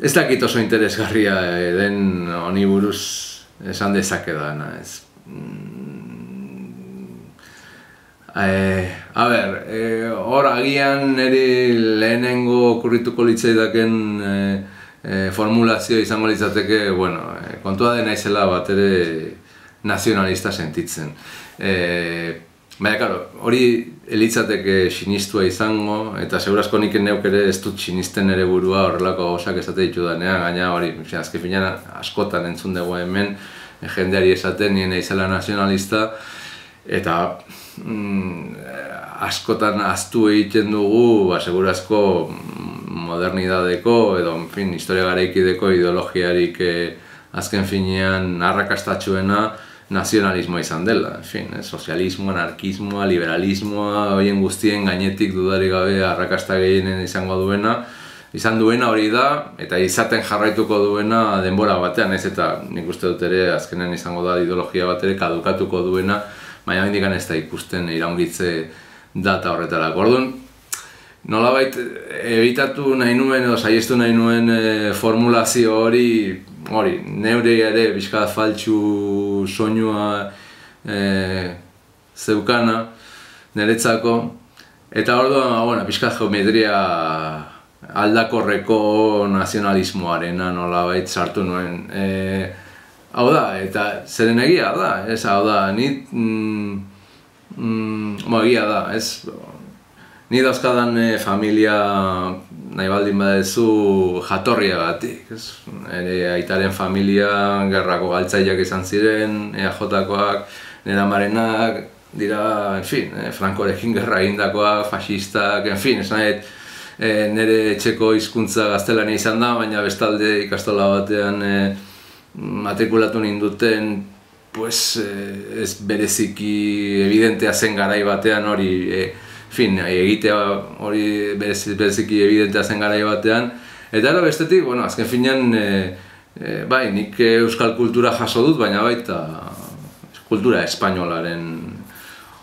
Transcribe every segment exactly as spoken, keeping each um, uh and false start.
ez dakit oso interesgarria den honi buruz esan dezakedana, ez. Eh, a ber, eh, hor agian niri lehenengo okurrituko litzaidaken eh, eh, formulazio izango litzateke, bueno, eh, kontua dena izela bat ere nazionalista sentitzen. Eh, baina, karo, hori elitzateke sinistua izango, eta segurazko nik neuk ere ez dut sinisten ere burua horrelako gauzak esate ditudanean, gaina hori, azken finean askotan entzun dugu hemen, jendeari esaten nien izela nazionalista, eta mm, askotan ahaztu egiten dugu, ba, segurazko modernidadeko edo, en fin, historia garaikideko ideologiarik eh, azken finean arrakastatxuena nazionalismoa izan dela, en fin, eh, sozialismoa, anarkismoa, liberalismoa, horien guztien gainetik dudarik gabe arrakasta gehienen izango duena, izan duena hori da, eta izaten jarraituko duena denbora batean, ez eta nik uste dut ere azkenen izango da ideologia bat ere kadukatuko duena, baina hendikan ez da ikusten iraungitze data horretarako. Orduan, nolabait ebitatu nahi nuen edo saiestu nahi nuen e, formulazio hori, hori, neure ere bizkat faltsu soinua e, zeukana niretzako, eta orduan, bueno, bizkat geometria aldakorreko nazionalismoarena nolabait sartu nuen. E, hau da, eta zeren egia da, ez, hau da, ni, mm, mm, mo, egia da, ez, ni dauzkadan e, familia nahi baldin badezu jatorriagatik, ez, ere aitaren familia gerrako galtzaileak izan ziren, E A Jotakoak, nera marenak, dira, en fin, e, Frankorekin gerra egindakoak, fascistak, en fin, esan nahi, e, nire etxeko hizkuntza gaztelania izan da, baina bestalde ikastola batean e, matrikulatu ninduten, pues, eh, ez bereziki evidentea zen garai batean hori, eh, fin, egitea hori bereziki evidentea zen garai batean, eta ero bestetik, bueno, azken finean, eh, eh, bai, nik euskal kultura jaso dut, baina baita kultura espainolaren.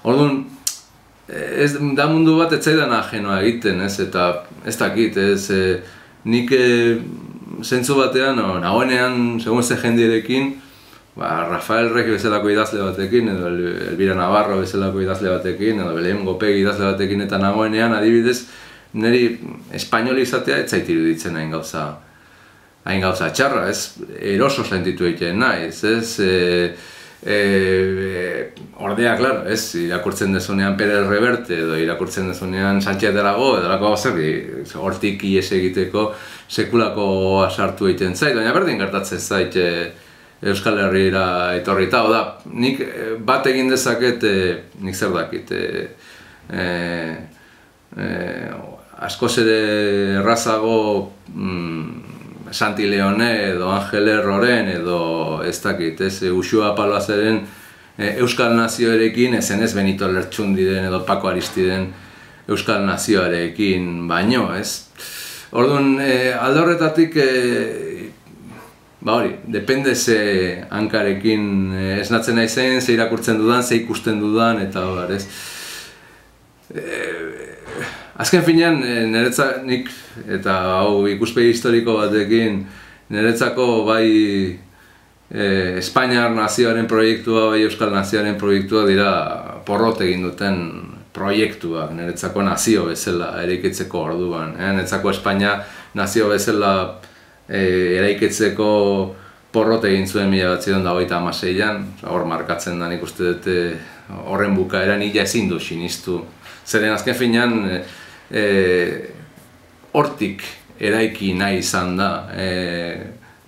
Orduan, ez da mundu bat ez zaidan ajenoa egiten, ez, eta ez dakit, ez, eh, nik eh, zentzu batean, no, nagoenean, segun ze jendearekin, ba, Rafael Regi bezalako idazle batekin, edo Elvira Navarro bezalako idazle batekin, edo Belen Gopegi idazle batekin, eta nagoenean, adibidez, niri espainoli izatea ez zait iruditzen hain gauza, hain gauza txarra, ez, eroso sentitu egiten naiz, ez, e, e, e, ordea, klaro, ez, irakurtzen dezunean Pérez Reverte, edo irakurtzen dezunean Sánchez de Aragó, edo lako gauzer, hortik ies egiteko sekulako sartu egiten zait, baina berdin gertatzen zait e, Euskal Herriera etorri eta, da, nik bat egin dezaket, e, nik zer dakit, e, e, e, askoz ere errazago mm, Santi Leone edo Angel Erroren edo ez dakit, ez, Uxua Paloazeren e, Euskal Nazioarekin, ezen ez Benito Lertxundiren edo Paco Aristiden Euskal Nazioarekin baino, ez. Orduan, e, alde horretatik, e, ba hori, depende ze hankarekin e, esnatzen naizen, ze irakurtzen dudan, ze ikusten dudan, eta hor, ez. E, azken finean, e, niretzak nik, eta hau ikuspegi historiko batekin, niretzako bai e, Espainiar nazioaren proiektua, bai Euskal nazioaren proiektua dira porrot egin duten proiektuak, niretzako nazio bezala eraikitzeko orduan. Eh? Niretzako Espainia nazio bezala eh, eraikitzeko porrot egin zuen mila bederatziehun eta hogeita hamaseian, hor markatzen da nik uste dut horren bukaeran ila ezin du sinistu. Zeren azken finean eh, hortik eraiki nahi izan da. Eh,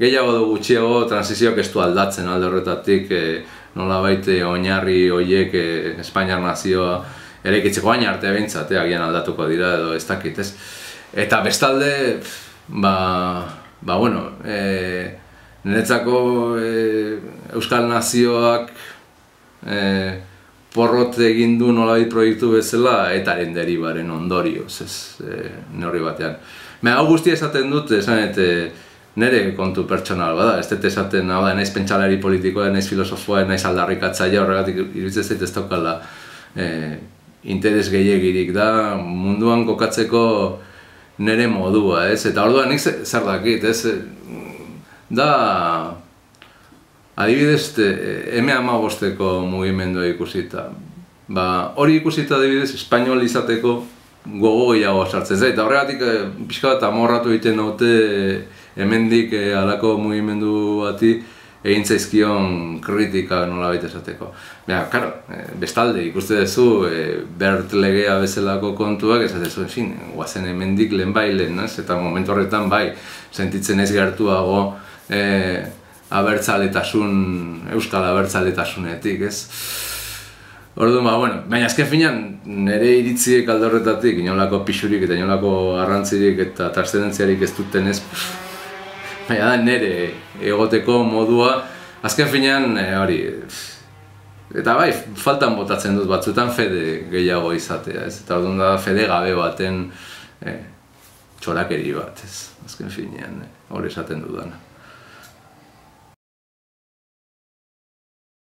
gehiago du gutxiago transizioak ez du aldatzen alde horretatik eh, nolabait oinarri horiek eh, Espainiar nazioa eraikitzeko baina arte behintzat, agian aldatuko dira edo ez dakit, ez. Eta bestalde, ba, ba bueno, e, niretzako e, Euskal Nazioak e, porrot egin du nolabait proiektu bezala etaren deribaren ondorioz, ez, e, neurri batean. Baina hau guztia esaten dut, esan eta nire kontu pertsonal bada, ez dut esaten, hau da, naiz pentsalari politikoa, naiz filosofoa, naiz aldarrikatzaia, horregatik iruditzen zait ez daukala e, interes gehiegirik da munduan kokatzeko nire modua, ez? Eta orduan nik zer dakit, ez? Da, adibidez, eme hamabosteko mugimendua ikusita. Ba, hori ikusita adibidez, espainol izateko gogo gehiago sartzen zait. Eta horregatik pixka bat amorratu egiten dute hemendik halako mugimendu bati egin zaizkion kritika nolabait esateko. Baina, karo, bestalde ikuste duzu Bert legea bezalako kontuak esatezu, ezin, guazen hemendik lehen bai lehen, eta momentu horretan bai, sentitzen ez gertuago abertzaletasun, euskal abertzaletasunetik, ez? Orduan, ba, bueno, baina azken finean, nire iritziek alde horretatik, inolako pixurik eta inolako arrantzirik eta trascendentziarik ez duten ez, baina da nire egoteko modua, azken finean, hori, eta bai, faltan botatzen dut batzuetan fede gehiago izatea, ez? Eta orduan da fede gabe baten txorakeri bat, ez? Azken finean, hori esaten dudana.